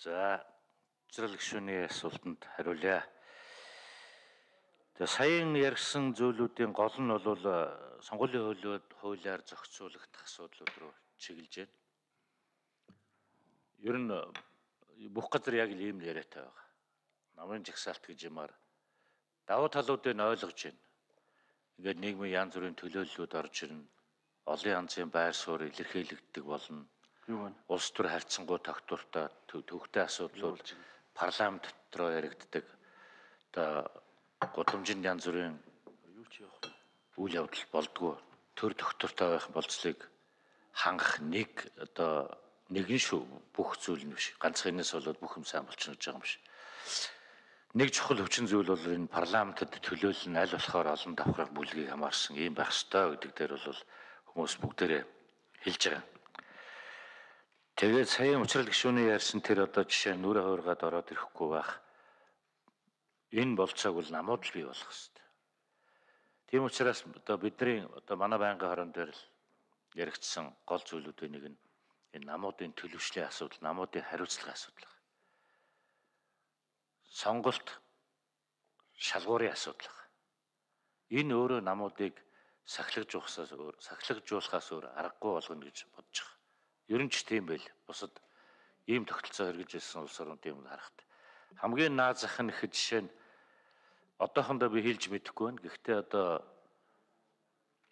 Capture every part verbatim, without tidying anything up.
За, цэцэрлэг шүний асуултанд хариулъя. Тэгээ саяхан ярьсан зүйлүүдийн гол нь бол сонгуулийн хуулиуд хуулиар зохицуулагдах асуудлууд руу чиглэж байна. Ер нь бүх газар яг л ийм яриатай байгаа. Намын жагсаалт гэж юмар давуу талуудыг ойлгож байна. Ингээд нийгмийн янз бүрийн төлөөллүүд орж ирнэ. Олон янзын байр суурь илэрхийлэгддэг болно. Улс төр харьцангуй тогтвортой төвхтэй асуудлууд парламент дотроо яригддаг. Одоо гудамжинд янз бүрийн үйл явдал болдгоо. Төр тогтвортой байх болцлыг хангах нэг одоо нэгэн шүү бүх зүйл нь биш. Ганцхан энэс болоод бүх юм сайн болчихно гэж байгаа юм биш. Нэг чухал хүчин зүйл бол энэ парламентод төлөөлөл нь аль болохоор олон давхраг бүлгийг хамаарсан юм байх ёстой гэдэг дээр бол хүмүүс бүгдээрээ хэлж байгаа. Тэгээд саяхан уучрал гишүүний ярьсан тэр одоо жишээ нүрэ хуургаад ороод ирэхгүй байх. Энэ болцоог бол намууд л бий болох хэрэгтэй. Тийм учраас одоо бидний одоо манай байнгын хорон дээр л яригдсан гол зүйлүүдийн нэг нь энэ намуудын төлөвшлийн асуудал, намуудын хариуцлагын асуудал. Сонголт шалгуурын асуудал. Энэ өөрөө намуудыг сахилгажуулахаас өөр сахилгажуулахаас өөр аргагүй болгоно гэж бодож байгаа. Ер нь ч тийм байл. Бусад ийм тогтолцоо хэрэгжиж ирсэн улс орнууд юм харахад хамгийн наад зах нь ихэд жишээ нь одоохондоо би хэлж мэдэхгүй байна. Гэхдээ одоо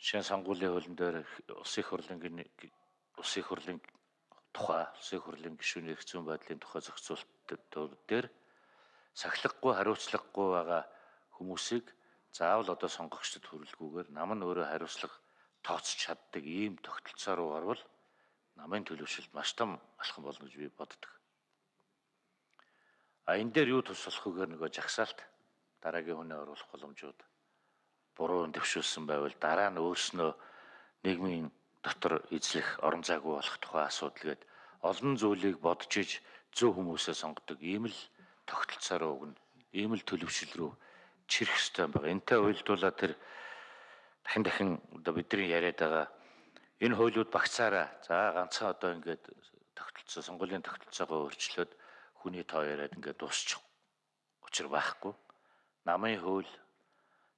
жишээ сонгуулийн хуулийн дээр улсын их хурлын улсын их хурлын тухай, улсын их хурлын гишүүний эрх зүйн байдлын тухай зохицуултууд дээр сахилгагүй хариуцлагагүй байгаа хүмүүсийг заавал одоо сонгогчдод хүрэлгүйгээр нам нь өөрөө хариуцлага тооцож чаддаг ийм тогтолцоо руу орвол намын төлөвшөлт маш том алхам болно гэж би боддог. А энэ дээр юу тус болох вэгээр нөгөө жагсаалт дараагийн хүнээ оруулах боломжууд буруу дэвшүүлсэн байвал дараа нь өөрснөө нийгмийн дотор эзлэх орон зайгүй болох тухай асуудал гээд олон зүйлийг бодож иж зөв хүмүүсээ сонгодог ийм л тогтолцоо руу өгнө. Ийм л төлөвшил рүү чирэх ёстой юм байна. Энтэй уялдуулаад тэр дахин дахин одоо бидний яриад байгаа энэ хуулиуд багцаараа за ганцхан одоо ингээд тогтолцоо сонгуулийн тогтолцоогоо өөрчлөөд хүний тоо яриад ингээд дуусчих учир байхгүй. Намын хууль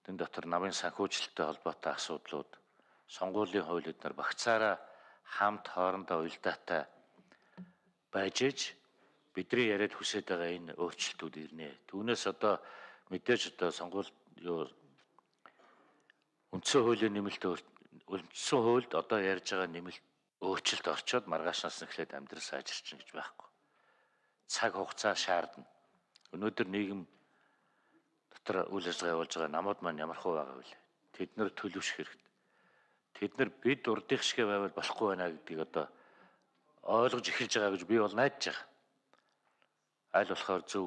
тэн дотор намын санхүүжилттэй холбоотой асуудлууд сонгуулийн хуулиуд нар багцаараа хамт хоорондоо уялдаатай байж иж бидний яриад хүсэж байгаа энэ өөрчлөлтүүд ирнэ. Түүнээс одоо мэдээж одоо сонгуул юу үндсэн хуулийн нэмэлт үндсэн хуульд одоо ярьж байгаа нэмэлт өөрчлөлт орчоод маргаашнаас нь эхлээд амьдрал сайжирчин гэж байхгүй. Цаг хугацаа шаардна. Өнөөдөр нийгэм дотор үйл ажиллагаа явуулж байгаа намууд маань ямар хөө байгаа вэ? Тэд нэр төлөвшөх хэрэгтэй. Тэд нар бид урдих шигэ байвал болохгүй байна гэдгийг одоо ойлгож эхэлж байгаа гэж би бол найдаж байгаа. Аль болохоор зөв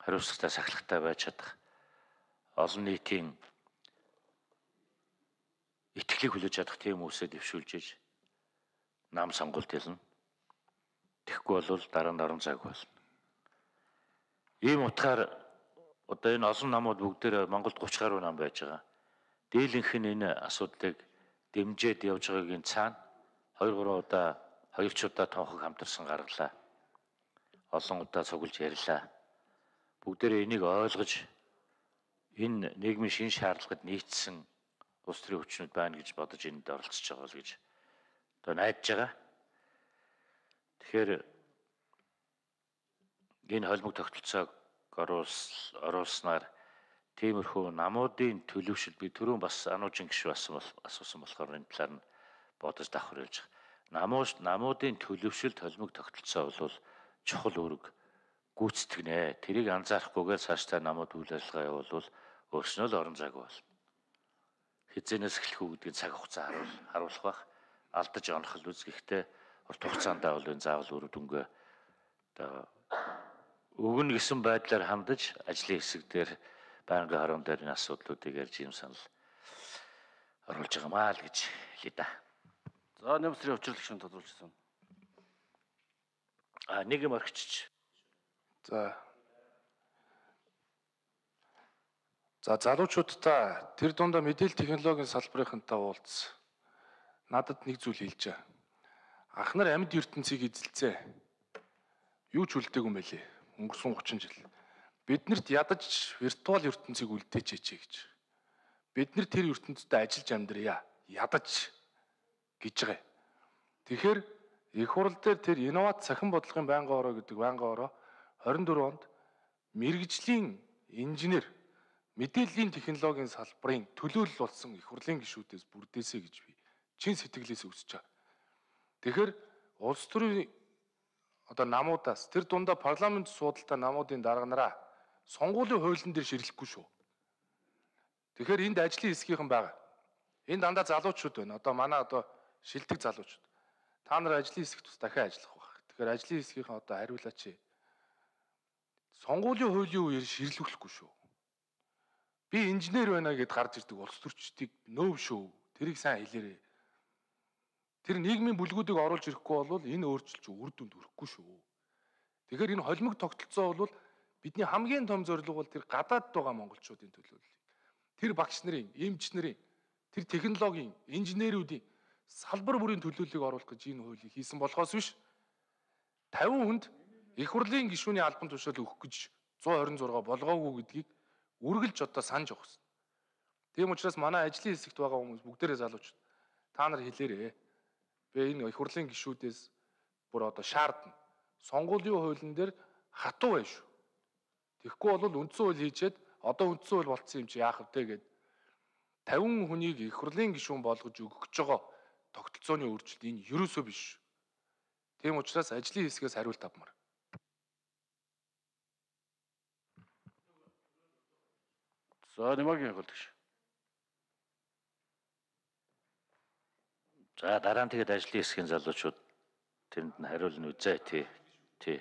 хариуцлагатай сахилгатай байж чадах олон нийтийн итгэлийг хүлээж чадах тийм хүмүүсээ дэвшүүлж иж нам сонгуульд ялна. Тэгэхгүй бол дараа нь орон зайг болно. Ийм утгаар одоо энэ олон намууд бүгдээр Монголд гурван гаруй нам байж байгаа. Дийлэнх нь энэ асуудлыг дэмжиж явж байгаагийн цаана хоёр гурван удаа хоёр ч удаа тонхог хамтарсан гаргалаа. Олон удаа цуглаж ярьлаа. Бүгдээрээ энийг ойлгож энэ нийгмийн шин шаардлагад нийцсэн улс төрийн хүчнүүд байна гэж бодож энд оролцож байгаа л гэж одоо найдаж байгаа. Тэгэхээр энэ холбог тогтолцоог оруулснаар тиймэрхүү намуудын төлөвшил би түрүүн бас ануужин гишүү асуусан болохоор энэ талаар нь бодож давхар хэлж байгаа. Намуудын төлөвшилд холбог тогтолцоо бол чухал үүрэг гүйцэтгэнэ. Тэрийг анзаарахгүйгээр цаашдаа намууд үйл ажиллагаа явуулвал өөрснөө л орон зайг болно. Хизэнээс эхлэх үү гэдгийг цаг хугацаа харуул харуулах бах алдаж онох л үзэхдээ урт хугацаандаа бол энэ заавал үр дүнгээ одоо өгнө гэсэн байдлаар хандаж ажлын хэсэг дээр байнгын хорон дээр энэ асуудлуудыг ярьж юм санал оруулж байгаамаа л гэж хэлээ да. За нэмсрийн учрал гишүүн тодруулчихсан. А нэг юм орхичиж. За. За залуучуудаа тэр дундаа мэдээлэл технологийн салбарынхантай уулзсан. Надад нэг зүйл хэлж байгаа. Ах нар амьд ертөнцийг эзэлцээ. юу ч үлдээгүй юм байлээ. Өнгөрсөн гучин жил. Биднэрт ядаж виртуал ертөнцийг үлдээчээч гэж. Бид нар тэр ертөнцид ажиллаж амьдрья. Ядаж гэж байгаа. Тэгэхээр их хурал дээр тэр инновац цахим бодлогын байнгын ороо гэдэг байнгын ороо хорин дөрөв онд мэрэгжлийн инженер мэдээллийн технологийн салбарын төлөөлөл болсон их хурлын гишүүдээс бүрдээсэй гэж би чин сэтгэлээс үсэж байгаа. Тэгэхээр улс төрийн одоо намуудаас тэр дундаа парламент суудалтай намуудын дарга нараа сонгуулийн хуулийн дээр ширлэхгүй шүү. Тэгэхээр энд ажлын хэсгийнхэн байгаа. Энэ дандаа залуучууд байна. Одоо манай одоо шилдэг залуучууд. Та нар ажлын хэсэгт бас дахин ажиллах байх. Тэгэхээр ажлын хэсгийнхэн одоо хариулаач. Сонгуулийн хуулийн үеэр ширлүүлэхгүй шүү. Би инженер байна гэд гарч ирдэг улс төрчдийг нөөв шүү. Тэрийг сайн хэлээрэй. Тэр нийгмийн бүлгүүдийг оруулж ирэхгүй бол энэ өөрчлөлт үр дүнд хүрэхгүй шүү. Тэгэхээр энэ холимог тогтолцоо бол бидний хамгийн том зорилго бол тэр гадаадд байгаа монголчуудын төлөөлөл. Тэр багш нарын, эмч нарын, тэр технологийн, инженерүүдийн салбар бүрийн төлөөллийг оруулах гэж энэ хуулийг хийсэн болохоос биш тавин хүнд их хурлын гишүүний албан тушаал өгөх гэж зуун хорин зураг болгоогүй гэдгийг үргэлж одоо санаж явах хэрэгтэй. Тийм учраас манай ажлын хэсэгт байгаа хүмүүс бүгдээрээ залуучууд та нар хэлээрэй. Би энэ их хурлын гишүүдээс бүр одоо шаардна. Сонгуулийн хуулийн дээр хатуу байна шүү. Тэгэхгүй бол үндсэн хууль хийчихэд одоо үндсэн хууль болцсон юм чи яах вэ гэд тавин хүнийг их хурлын гишүүн болгож өгөх гэж байгаа тогтолцооны өөрчлөлт энэ ерөөсөө биш. Тийм учраас ажлын хэсгээс хариулт авмаар. За Нямаагийн хөлтгш. За дараа нь тэгээд ажлын хэсгийн залуучууд тэнд нь хариулна үзээ тий. Тий.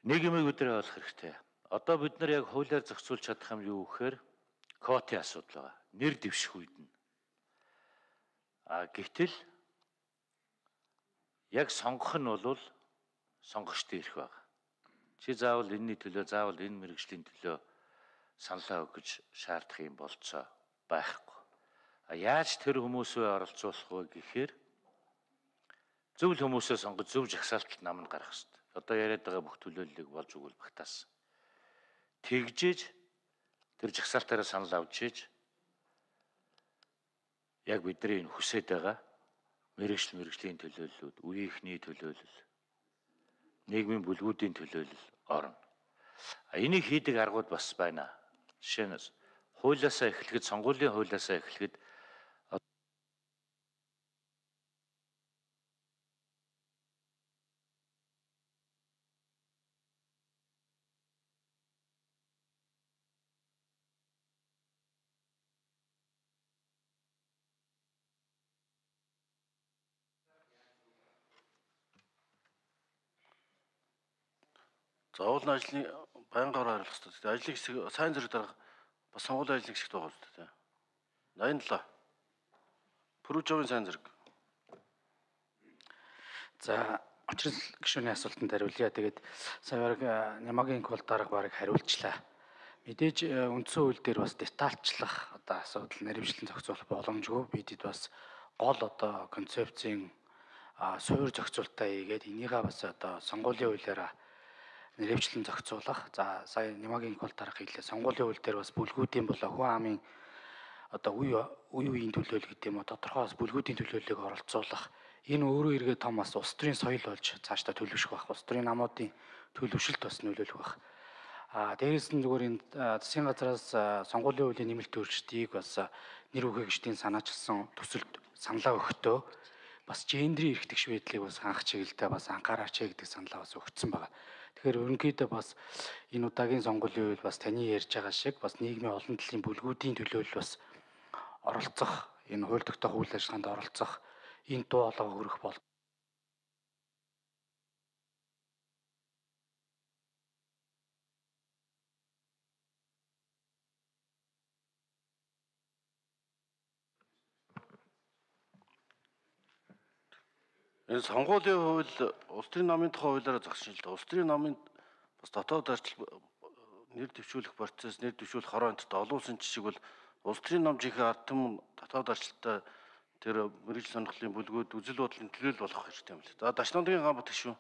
Нэг юм өдрөө олох хэрэгтэй. Одоо бид нар яг хуулиар зохицуулж чадах юм юу гэхээр квотын асуудал байгаа. Нэр дэвших үед нь. А гэтэл яг сонгох нь бол сонгогчтой ирэх байгаа. Чи заавал энэний төлөө, заавал энэ мэрэгжлийн төлөө саналаа өгөх шаардах юм болцоо байхгүй. А яаж тэр хүмүүсөө оролцуулах вэ гэхээр зөв л хүмүүсээ сонгож зөв жагсаалтад намд гарах хэрэгтэй. Одоо яриад байгаа бүх төлөөллийг болж өгвөл багтаасан. Тэгжээж тэр жагсаалтаараа санал авч иж яг бидний энэ хүсэж байгаа мэрэгжил мэрэгжлийн төлөөллүүд, үеийнхний төлөөлөл, нийгмийн бүлгүүдийн төлөөлөл орно. А энийг хийдэг аргууд бас байна. Жишээ нь хуулиасаа эхлэхэд, сонгуулийн хуулиасаа эхлэхэд Заавал ажлын байнгын ороо хариулах хэрэгтэй. Ажлын хэсэг сайн зэрэг дарга бас сонгуулийн ажлын хэсэгт байгаа шүү дээ. восемьдесят семь. Пүрүжовын сайн зэрэг. За очрол гишүүний асуултанд хариулъя. Тэгээд сая бараг Нямаагийн кол дарга бараг хариулчлаа. Мэдээж үндсэн хууль дээр бас детальчлах одоо асуудал нэрвчлэн зохицуулах боломжгүй. Бидэд бас гол одоо концепцийн суур зохицуултаа хийгээд энийгээ бас одоо сонгуулийн хуулиараа нэрвчлэн зохицуулах. За сая Нямаагийн кол дарга хэлээ. Сонгуулийн хууль дээр бас бүлгүүдийн болоо хүн амын одоо үе үе үеийн төлөөлөл гэдэг юм уу тодорхой бас бүлгүүдийн төлөөллийг оролцуулах. Энэ өөрөө эргээ том бас улс төрийн соёл болж цаашдаа төлөвшөх байх. Улс төрийн намуудын төлөвшөлт бас нөлөөлөх байх. А дээрээс нь зүгээр энэ засгийн газраас сонгуулийн хуулийн нэмэлт өөрчлөлтийг бас нэр хүрээгчдийн санаачилсан төсөлд саналаа өгөхдөө бас гендрийн эрх тэгш байдлыг бас хангах чиглэлдээ бас анхаараач гэдэг саналаа бас өгсөн байна. Тэгэхээр ерөнхийдөө бас энэ удаагийн сонгуулийн үйл бас таны ярьж байгаа шиг бас нийгмийн олон талын бүлгүүдийн төлөөлөл бас оролцох, энэ хууль тогтоох үйл ажиллагаанд оролцох энэ дуу хоолойгоо хөрөх бол Энэ сонгуулийн хууль улс төрийн намын тухай хуулиараа зохицуулдаг. Улс төрийн намын бас дотоод арчил нэр дэвшүүлэх процесс, нэр дэвшүүлэх хороо энтерт олон улсын жишг бол улс төрийн нам жинхэнэ ард түмэн дотоод арчилтай тэр мэрэгжил сонирхлын бүлгүүд үзэл бодлын төлөөлөл болох хэрэгтэй юм л. За Дашнамдгийн ган бат гишүүн.